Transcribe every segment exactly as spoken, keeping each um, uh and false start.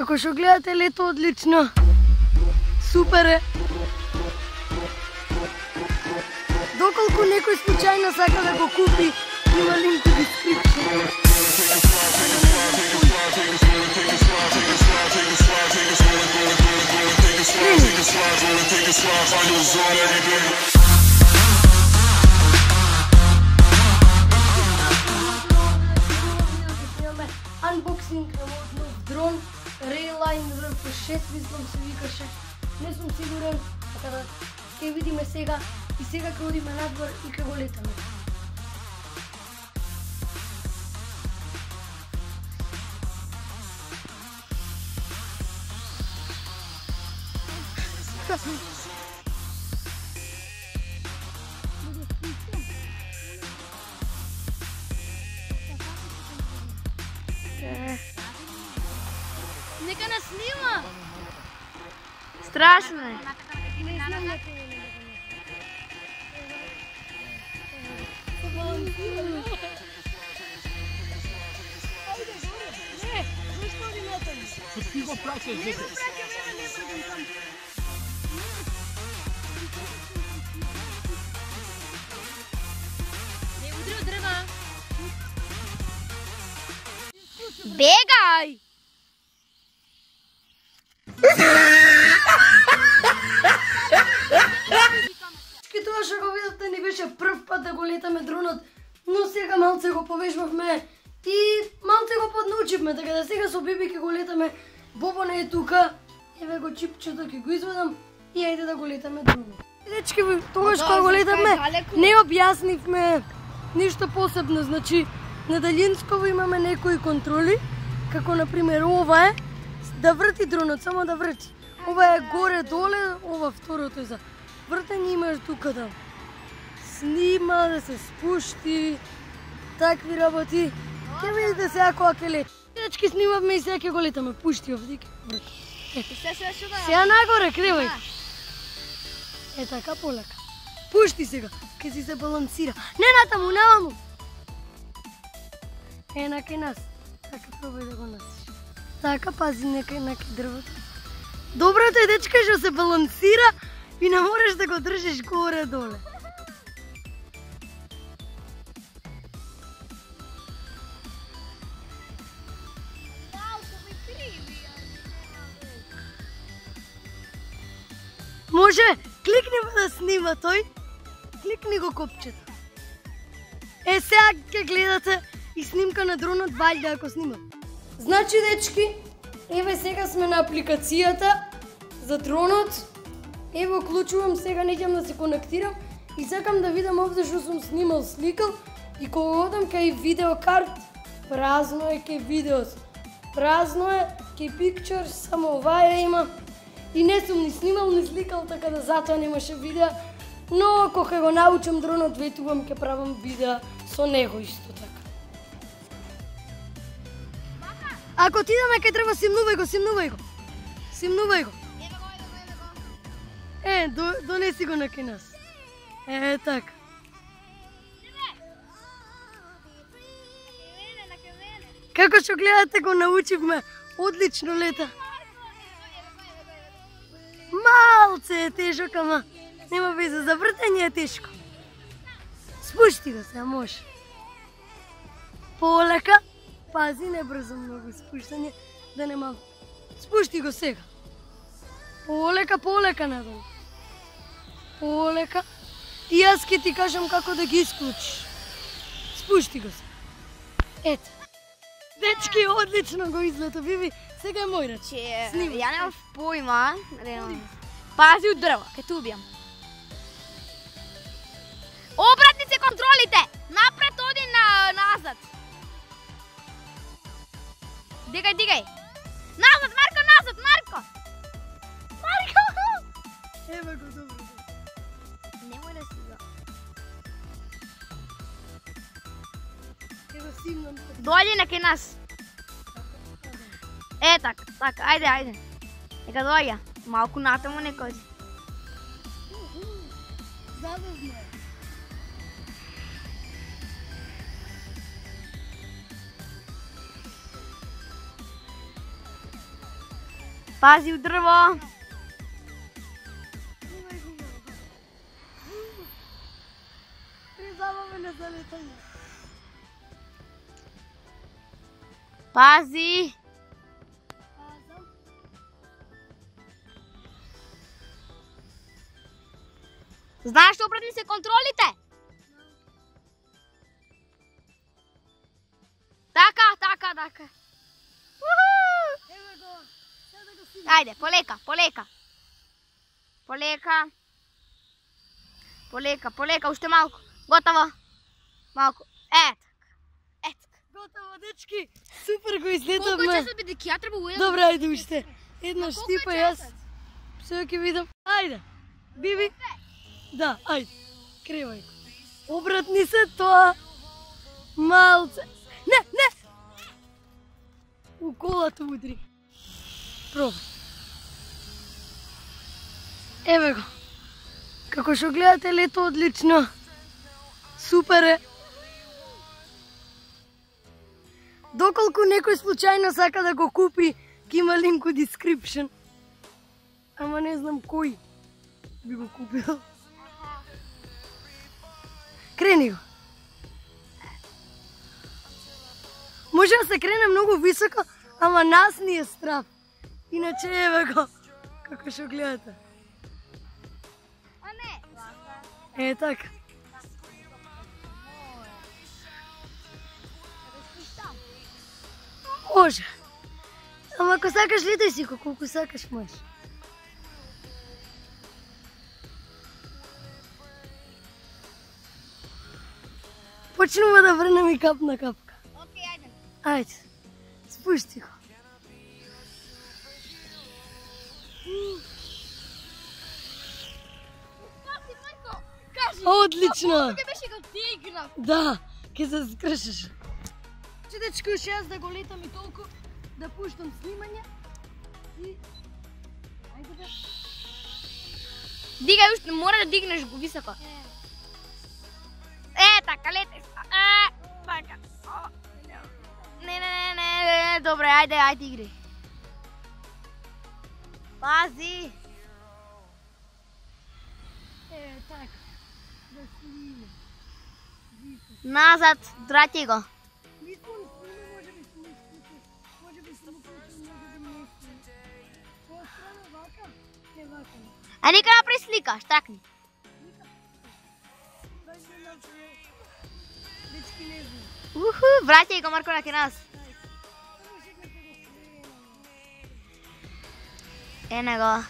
Како што гледате, лето одлично. Супер е. Доколку некој случајно сака да го купи, има линк во дескрипција. Unboxing на мојот нов дрон, Rayline ар пи шест, мислам се викаше. Не сум сигурен, така да ќе видиме сега и сега ќе одиме надвор и ќе го летаме. Нека нас снима! Страшно е. Не знам на кого не Не, зашто ли натаму? Ти го праќаш, дете. Не удри од дрва. Бегај! Тоа што го видовте ни беше прв пат да го летаме дронот, но сега малце го повежбавме и малце го поднаучивме, така да сега со Биби ќе го летаме. Бобо не е тука, еве го чипчето ќе го извадам и ајде да го летаме дронот. Дечки, тогаш кога го летаме, не објаснивме ништо посебно, значи на далинсково имаме некои контроли, како например ова е да врти дронот, само да врти. Ова е горе-доле, ова второто е за вртење, имаш тука да снима, да се спушти, такви работи. Ќе видите сега кога ќе лети. Дечки, снимавме и сега ќе го летаме. Пушти овде. Сега нагоре, кревај. Е така, полека. Пушти сега, ќе си се балансира. Не натаму, наваму. Е, накај нас. Така, пробај да го носиш. Така, пази некај накај дрвото. Доброто е, дечка, што се балансира и не можеш да го држиш горе-доле. Може, кликни да снима тој, кликни го копчето. Е, сега ќе гледате и снимка на дронот, вајде ако снима. Значи, дечки, еве сега сме на апликацијата за дронот. Ево, клучувам сега, неќам да се конектирам и сакам да видам овде што сум снимал, сликал и кога одам кај видеокарт, празно е кај видеос. Празно е кај pictures, само оваа има. И не сум ни снимал, ни сликал, така да затоа немаше видео. Но кога го научам дронот, ветувам ќе правам видео со него исто така. Ако ти идеме кај треба, симнувај го, симнувај го. Симнувај го. Е, до, донеси го накај нас. Е, така. Како што гледате, го научивме. Одлично лета. Малце е тежок, ама нема веза, за вртење е тешко. Спушти го се, може. Полека, пази, не брзо многу спуштање, да нема... Спушти го сега. Полека, полека надолу. Полека. И јас ќе ти кажам како да ги исклучиш. Спушти го се. Ето. Дечки, одлично го излето, Биби. Сега е мој ред. Ја немам појма. Пази од дрво, ке те убијам. Обратни се контролите! Напред оди на назад. Дигај, дигај. Назад, Марко, назад, Марко! Марко! Ева го, добро. Немој да си го. Ева симнам. Дојди на кај нас. Е, така, така, ајде, ајде. Нека дојја. Малку натаму нека оди. Задозна. Пази у дрво. Призаваме на залетање. Пази. Знаеш што опредни се контролите? Така, така, така. Еве го. Сега го си. Ајде, полека, полека. Полека. Полека, полека, уште малку. Готово. Малку. Е, така. Е, така. Готово, дечки. Супер го Колку излетавме. часот биде ќе ја треба уедам? Добре, ајде уште. Една А колку штипа е јас. часот? Сега ќе видам. Ајде. Биби. Да, ајде. Кревај. Обратни се тоа. Малце. Не, не. У колата удри. Пробај. Еве го. Како што гледате, лето одлично. Супер е. Доколку некој случајно сака да го купи, ќе има линк у description. Ама не знам кој би го купил. Крени го. Може да се крене многу високо, ама нас ни е страв. Иначе еве го, како што гледате. А не. Е така. Може. Ама ако сакаш летај си го, колку сакаш можеш. Почнува да врнем и кап на капка. Океј, ајде. Ајде, спушти го. Пази, Марко, кажи. Одлично! Ќе беше како ти игра. Да, ќе се скршиш. Че дечки, уште јас да го летам и толку, да пуштам снимање. И... Ајде бе. Дигај уште, мора да дигнеш го високо. Е, така, летеш. Е, така. Не, не, не, не, не, добре, ајде, ајде игри. Пази. Е, така. Да сниме. Назад, враќај го. Мислам, сниме, може би сме исклучи. Може би сме уклучи, може би не сме. Која страна вака? Е, вака. А нека направи слика, штакни. Дечки не знам. Уху, враќај го, Марко, на ке нас. Ена го.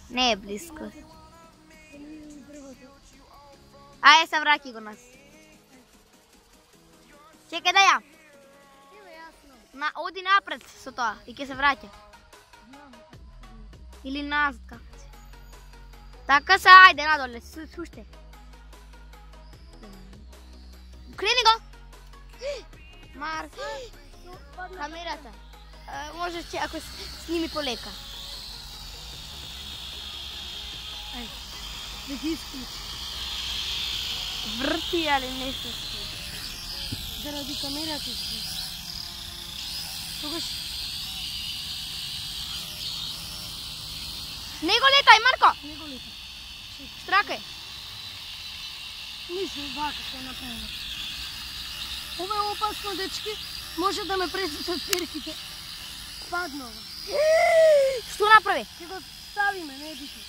Не е близко. Ајде се враќај го нас. Чекај да ја. На, оди напред со тоа и ќе се враќа. Или назад како се. Така се, ајде надоле, суште. Крени го. Мар, камерата. Е, можеш че ако сними полека. Ајде, да ги исклучи. Врти, али не се случи. Заради камерата си. Тогаш... Не го летај, Марко! Не го летам. Штракај. Ништо вака се направено. Ова е опасно, дечки. Може да ме пресечат перките. Паднува. Што направи? Ќе го ставиме, не е битно.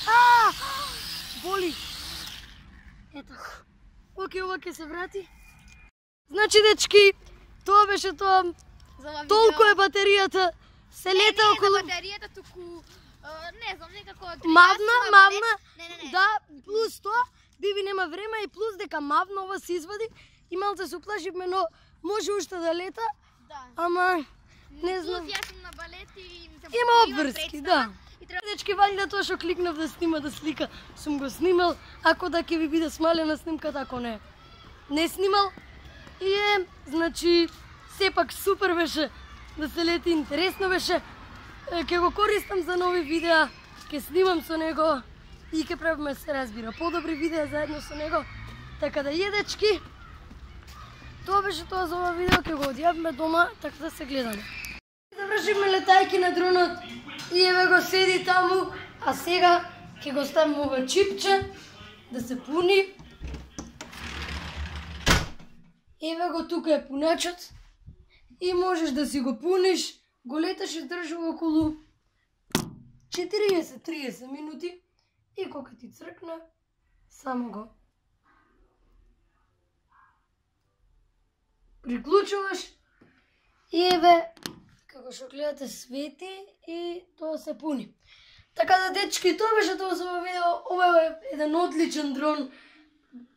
А! Боли. Ето. Океј, ова ќе се врати. Значи, дечки, тоа беше тоа. Толку е батеријата. Се лета не, околу... Не, за батеријата, туку... Не знам, некако... Мавна, мавна. Не, не, не. Да, плюс тоа, Биби нема време и плюс дека мавна ова се извади. И малце се уплашивме, но може уште да лета. Да. Ама, не знам. Плюс јас сум на балет и... Има обврски, да. Дечки, валјда тоа што кликнав да снима да слика, сум го снимал, ако да ќе ви биде смалена снимката, ако не. Не снимал. И е, значи, сепак супер беше да се лети, интересно беше. Ќе го користам за нови видеа, ќе снимам со него и ќе правиме, се разбира, подобри видеа заедно со него. Така да е, дечки, Тоа беше тоа за ова видео, ќе го одјавме дома, така да се гледаме. Завршивме летајки на дронот и еве го седи таму, а сега ќе го ставиме ова чипче да се пуни. Еве го тука е пуначот и можеш да си го пуниш, го леташ и држува околу четириесет до триесет минути и кога ти цркне, само го приклучуваш и еве, како што гледате, свети и тоа се пуни. Така да, дечки, тоа беше тоа за ова видео. Ова е еден одличен дрон.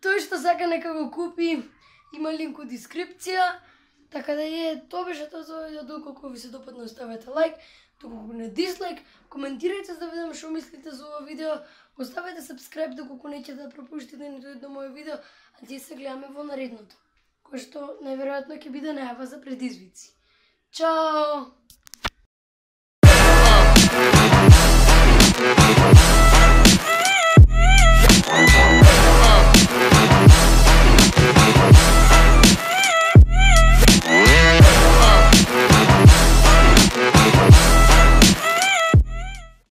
Тој што сака нека го купи, има линк у дескрипција. Така да е, тоа беше тоа за ова видео. Доколку ви се допадна, оставете лайк, доколку не дислайк, коментирайте за да видам што мислите за ова видео. Оставете сабскрајб доколку неќете да пропуштите ниту едно моје видео, а ние се гледаме во наредното, кој што најверојатно ќе биде најава за предизвици. Чао!